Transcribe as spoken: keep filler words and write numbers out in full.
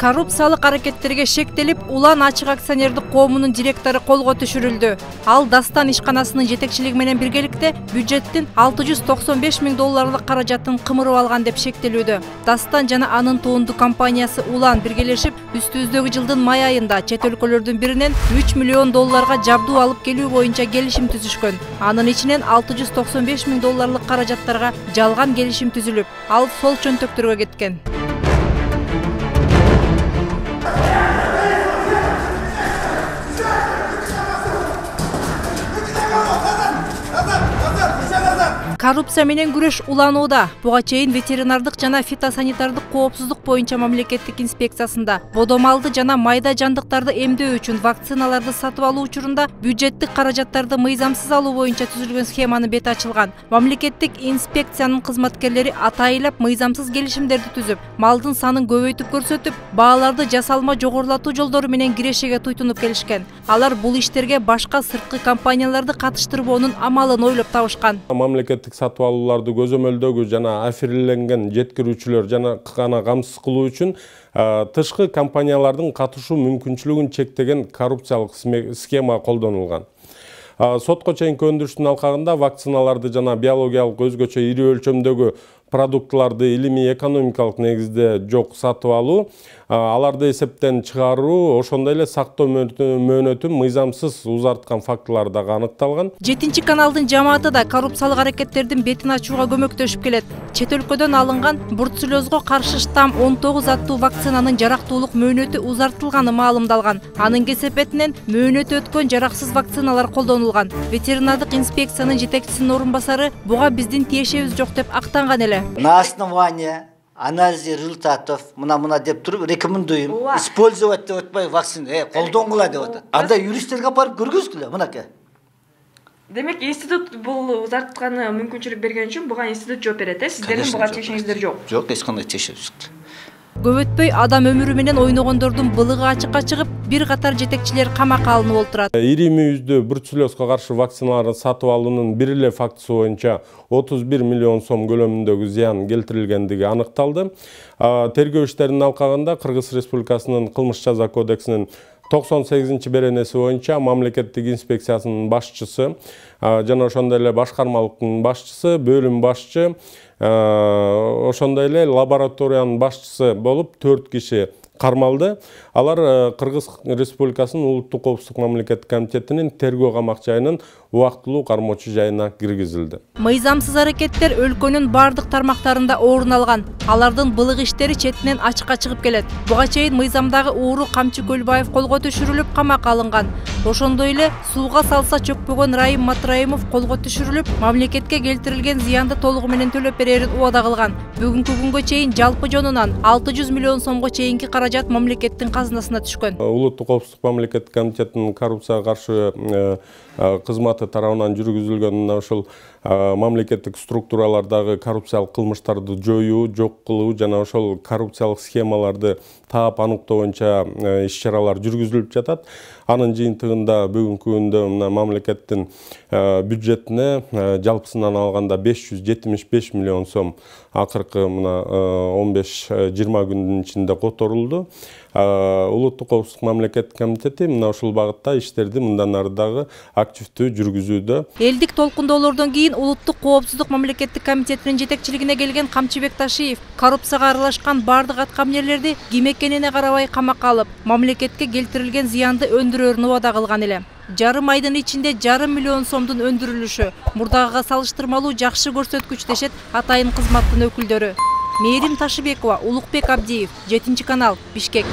Коррупциялык аракеттерге шектелип, Улан ачык акционердик коомунун директору колго түшүрүлдү. Ал Дастан ишканасынын жетекчилиги менен биргеликте бюджеттин алты жүз токсон беш миң долларлык каражатын кымырып алган деп шектелүүдө. Дастан жана анын тоонду компаниясы Улан биргелешип, үстүбүздөгү жылдын май айында чет өлкөлөрдүн биринен үч миллион долларга жабдуу алып келүү боюнча келишим түзүшкөн. Анын ичинен алты жүз токсон беш миң долларлык каражаттарга жалган келишим түзүлүп, ал сол чөнтөктөргө кеткен. Коррупция менен күрөш уланууда. Буга чейин ветеринардык жана фитосанитардык коопсуздук боюнча мамлекеттик инспекциясында бодомалды жана майда жандыктарды эмдөө үчүн вакциналарды сатып алуу учурунда бюджеттик каражаттарды мыйзамсыз алуу боюнча түзүлгөн схеманын бети ачылган. Мамлекеттик инспекциянын кызматкерлери атайылап мыйзамсыз келишимдерди түзүп, малдын санын көбөйтүп көрсөтүп, бааларды жасалма жогорулатуу жолдору менен кирешеге туйтунуп келишкен. Алар бул иштерге башка сырткы компанияларды катыштырбоонун амалын ойлоп табышкан. Мамлекеттик сатып алууларды көзөмөлдөгү жана аферленген жеткирүүчүлөр жана гана камсыз кылуу үчүн тышкы компаниялардын катышуу мүмкүнчүлүгүн чектеген коррупциялык схема колдонулган. Сотко чейинки өндүрүштүн алкагында вакциналарды жана биологиялык өзгөчө ири өлчөмдөгү продуктларды илимий экономикалык негизде жок сатып алуу, аларды эсептен чыгаруу, ошондой эле сактоо мөөнөтүн мыйзамсыз узарткан фактылар дагы аныкталган. Жетинчи каналдын жамааты да коррупциялык аракеттердин бетин ачууга көмөктөшүп келет. Чет өлкөдөн алынган бруцеллезго каршы штамм он тогуз аттуу вакцинанын жарактуулук мөөнөтү узартылганы маалымдалган. Анын кесепетинен мөөнөтү өткөн жараксыз вакциналар колдонулган. Ветеринардык инспекциянын жетекчисинин орун басары буга биздин тиешебиз жок деп актанган эле. На основании анализа результатов мына-мына деп туруп рекомендуем использовать деп атпай вакцина, э, колдонгула деп атат. Анда юристтерге барып көргүзгүлө, мынакей. Демек, институт бул узартканы мүмкүнчүлүк берген үчүн буга институт жооп берет, э? Сиздердин буга тиешеңиздер жок. Жок, эч кандай тиешебиз жок. Көп өтпөй адам өмүрү менен ойногондордун былыгы ачыкка чыгып, бир катар жетекчилер камакка алынып олтурат. Ири мүйүздүү бруцеллезго каршы вакциналарды сатып алуунун бир эле фактысы боюнча отуз бир миллион сом көлөмүндөгү зыян келтирилгендиги аныкталды. Тергөө иштеринин алкагында Кыргыз Республикасынын кылмыш жаза кодексинин токсон сегизинчи беренеси боюнча мамлекеттик инспекциясынын башчысы жана ошондой эле башкармалыктын башчысы, бөлүм башчы, ошондой эле лабораториянын башчысы болуп төрт киши кармалды. Алар Кыргыз Республикасынын улуттук коопсуздук мамлекеттик комитетинин тергөө камак жайынын убактылуу кармоочу жайына киргизилди. Мыйзамсыз аракеттер өлкөнүн бардык тармактарында орун алган. Алардын былык иштери четинен ачыкка чыгып келет. Буга чейин мыйзамдагы ууру Камчы Көлбаев колго түшүрүлүп камакка алынган. Ошондой эле сууга салса чөкпөгөн Райым Матраимов колго түшүрүлүп, мамлекетке келтирилген зыянды толугу менен төлөп берерин убада кылган. Бүгүнкү күнгө чейин жалпы жонунан алты жүз миллион сомго чейинки каражат мамлекеттин казынасына түшкөн. Улуттук коопсуздук мамлекеттик комитетинин коррупцияга каршы кызматы тарабынан жүргүзүлгөн ошол мамлекеттик структуралардагы коррупциялык кылмыштарды жоюу, жок кылуу жана ошол коррупциялык схемаларды таап аныктоо боюнча иш-чаралар жүргүзүлүп жатат. Анын жыйынтыгында бүгүнкү күндө мына мамлекеттин бюджетине жалпысынан алганда беш жүз жетимиш беш миллион сом акыркы мына он беш жыйырма күндүн ичинде которулду. Улуттук коопсуздук мамлекеттик комитети мына ушул багытта иштерди мындан ары дагы активдүү жүргүзүүдө. Элдик толкундоолордон кийин Улуттук коопсуздук мамлекеттик комитетинин жетекчилигине келген Камчыбек Ташиев коррупцияга аралашкан бардык аткаминерлерди ким экенине карабай камакка алып, мамлекетке келтирилген зыянды өндүрөрүн убада кылган эле. Жарым айдын ичинде жарым миллион сомдун өндүрүлүшү мурдагыга салыштырмалуу жакшы көрсөткүч дешет атайын кызматтын өкүлдөрү. Мээрим Ташыбекова, Улукбек Абдиев, жетинчи канал, Бишкек.